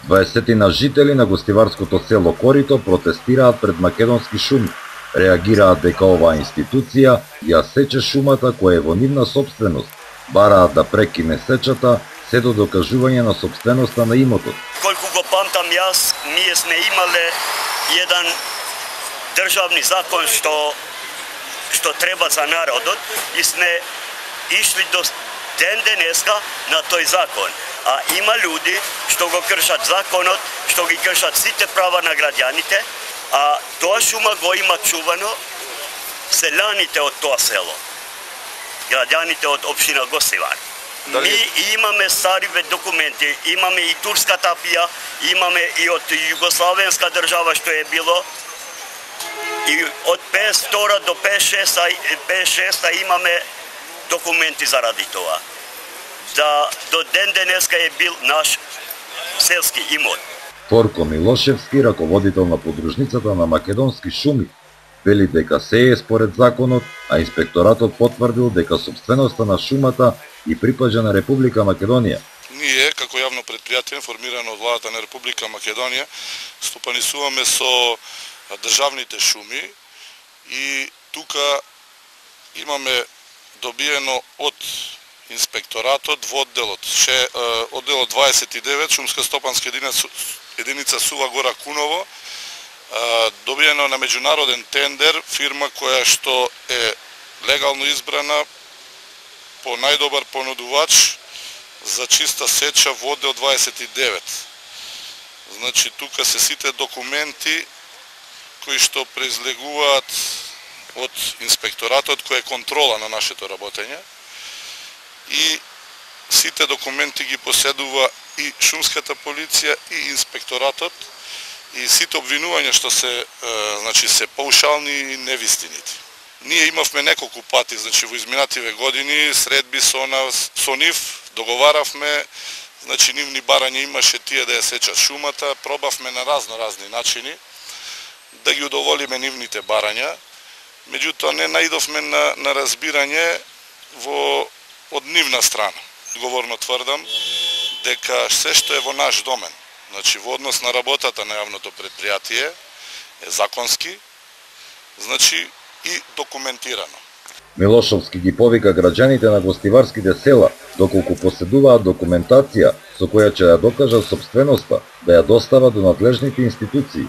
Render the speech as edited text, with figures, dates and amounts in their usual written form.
20 жители на гостиварското село Корито протестираат пред Македонски шуми. Реагираат дека оваа институција ја сече шумата која е во нивна собственост. Бараат да прекине сечата се до докажување на собственоста на имотот. Колку го памтам јас, ние сме имале еден државни закон што треба за народот и сме ишли до ден денеска на тој закон. А има луѓе што го кршат законот, што ги кршат сите права на граѓаните, а тоа шума го има чувано селаните од тоа село, граѓаните од општина Гостивар. Ми имаме стари документи, имаме и турска тапија, имаме и од југославенска држава што е било, и од 52 до 56 имаме документи заради тоа. Да до ден денеска е бил наш селски имот. Торко Милошевски, раководител на подружницата на Македонски шуми, вели дека се е според законот, а инспекторатот потврдил дека собственоста на шумата и припаѓа на Република Македонија. Ние, како јавно предпријатие, формирано од владата на Република Македонија, стопанисуваме со државните шуми и тука имаме добиено од инспекторатот во одделот 29, шумска стопанска единица Сува Гора Куново, добиено на меѓународен тендер фирма која што е легално избрана по најдобар понудувач за чиста сеча во оддел 29. Значи тука се сите документи кои што произлегуваат од инспекторатот кој е контрола на нашето работење и сите документи ги поседува и шумската полиција и инспекторатот и сите обвинувања што се паушални и невистините. Ние имавме неколку пати, во изминативе години, средби со нив, договаравме, нивни барања имаше тие да ја сечат шумата, пробавме на разни начини да ги удоволиме нивните барања, меѓутоа не наидовме на разбирање од нивна страна. Одговорно тврдам дека се што е во наш домен, во однос на работата на јавното предпријатие, е законски, и документирано. Милошовски ги повика граѓаните на гостиварските села, доколку поседуваат документација со која ќе ја докажат собственоста, да ја достават до надлежните институции.